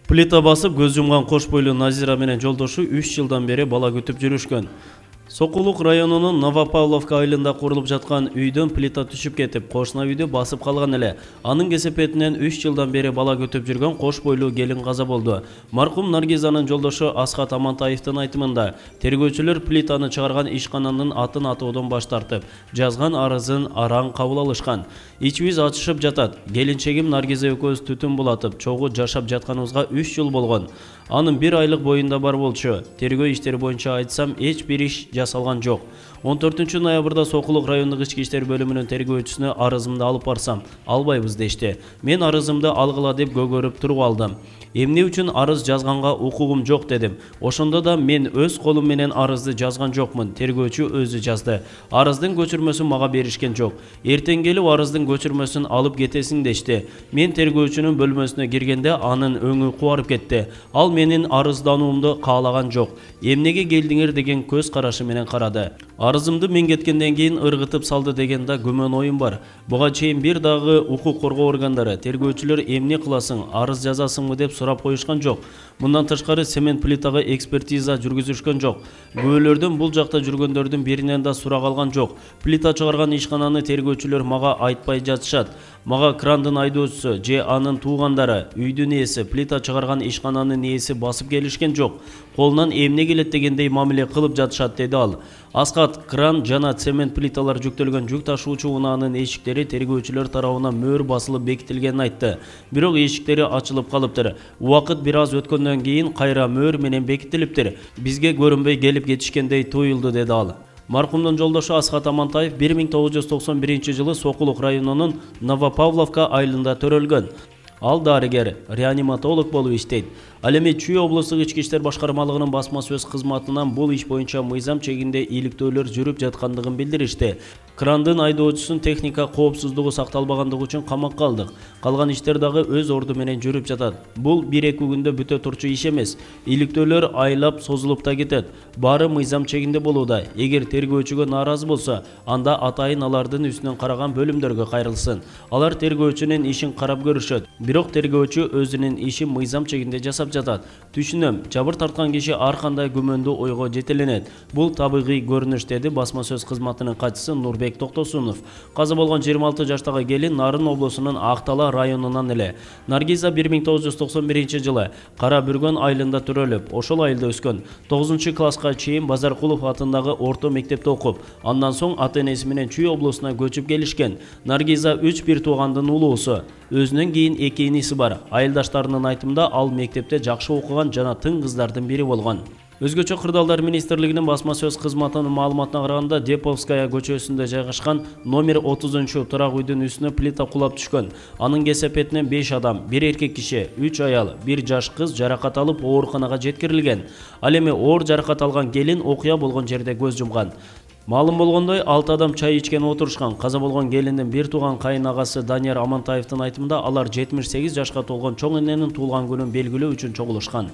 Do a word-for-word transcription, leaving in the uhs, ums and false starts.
Плита басып көз жумган кош бойлуу Назира менен жолдошу үч жылдан бери бала күтүп жүрүшкөн. Сокулук районунун Новопавловка айылында курулуп жаткан үйдөн плита түшүп кетип, кошуна үйдү басып калган эле. Анын кесепетинен үч жылдан бери бала күтүп жүргөн кош бойлуу келин каза болду. Маркум Наргизанын жолдошу Асхат Амантаевдин айтымында, тергөөчүлөр плитаны чыгарган ишкананын атын атоодон баш тартып, жазган арызын араң кабыл алышкан. Ичибиз ачышып жатат. Келинчегим Наргиза экөөбүз түтүн булатып, чогуу жашап жатканыбызга үч жыл болгон. Анын бир айлык боюнда бар болчу. Тергөө иштери боюнча айтсам, эч бир иш жасалган жок. он төртүнчү ноябрда Сокулук райондук ички иштер бөлүмүнүн тергөөчүсүнө арызымды алып барсам, албайбыз дешти. Мен арызымды алгыла деп көгөрүп туруп алдым. Эмне үчүн арыз жазганга укугум жок дедим. Ошондо да мен өз колум менен арызды жазган жокмун. Тергөөчү өзү жазды. Арыздын көчүрмөсүн мага беришкен жок. Эртең келип арыздын көчүрмөсүн алып кетесиң дешти. Мен тергөөчүнүн бөлмөсүнө киргенде анын өңү кубарып кетти. Ал менин арыздануумду каалаган жок. Эмнеге келдиңер деген көз карашы менен карады. Арызымды мен кеткенден кийин ыргытып салды деген да күмөн оюм бар. Буга чейин бир дагы укук коргоо органдары, тергөөчүлөр эмне кыласың, арыз жазасыңбы деп сурап коюшкан жок. Мындан тышкары цемент плитага экспертиза жүргүзүшкөн жок. Күбөлөрдөн бул жакта жүргөндөрдүн биринен да сурак алган жок. Плита чыгарган ишкананы тергөөчүлөр мага айтпай жатышат. Мага крандын айдоочусу же анын туугандары, үйдүн ээси, плита чыгарган ишкананын ээси басып келишкен жок. Колунан эмне келет дегендей мамиле кылып жатышат, деди ал. Асхат, кран жана цемент плиталар жүктөлгөн жүк ташуучу унаанын эшиктери тергөөчүлөр тарабынан мөөр басылып бекитилгенин айтты. Бирок эшиктери ачылып калыптыр. Убакыт бир аз өткөндөн кийин кайра мөөр менен бекитилиптир. Бизге көрүнбөй келип кетишкендей туюлду, деди ал. Маркумдун жолдошу Асхат Амантаев бир миң тогуз жүз токсон биринчи жылы Сокулук районунун Новопавловка айылында төрөлгөн. Ал дарыгер, реаниматолог болуп иштейт. Ал эми Чүй облустук ички иштер башкармалыгынын басма сөз кызматынан бул иш боюнча мыйзам чегинде иликтөөлөр жүрүп жаткандыгын билдиришти. Крандын айдоочусунун техника коопсуздугу сакталбагандыгы үчүн камакка алдык. Калган иштер дагы өз орду менен жүрүп жатат. Бул бир-эки күндө бүтө турчу иш эмес. Иликтөөлөр айлап созулуп да кетет. Баары мыйзам чегинде болууда. Эгер тергөөчүгө нааразы болсо, анда атайын алардын үстүнөн караган бөлүмдөргө кайрылсын. Алар тергөөчүнүн ишин карап көрүшөт. Бирок тергөөчү өзүнүн ишин мыйзам чегинде жасап жатат. Түшүнөм, жабыр тарткан киши ар кандай күмөндүү ойго жетеленет. Бул табигый көрүнүш, деди басма сөз кызматынын катчысы Нурбек Токтосунов. Каза болгон жыйырма алты жаштагы келин Нарын облусунун Актала районунан эле. Наргиза бир миң тогуз жүз токсон биринчи жылы Кара Бүргөн айылында төрөлүп, ошол айылда өскөн. тогузунчу класска чейин Базаркулов атындагы орто мектепте окуп, андан соң ата-энеси менен Чүй облусуна көчүп келишкен. Наргиза үч бир туугандын улуусу. Өзүнөн кийин эки иниси бар. Айылдаштарынын айтымында ал мектепте жакшы окуган жана тың кыздардын бири болгон. Өзгөчө кырдаалдар министрлигинин басма сөз кызматынын маалыматына караганда, Деповская көчөсүндө жайгашкан номер отузунчу турак үйдүн үстүнө плита кулап түшкөн. Анын кесепетинен беш адам, бир эркек киши, үч аял, бир жаш кыз жаракат алып ооруканага жеткирилген. Ал эми оор жаракат алган келин окуя болгон жерде көз жумган. Маалым болгондой, алты адам чай ичкен отурушкан. Каза болгон келиндин бир тууган кайын агасы Данияр Амантаевдин айтымында, алар жетимиш сегиз жашка толгон чоң эненин туулган күнүн белгилөө үчүн чогулушкан.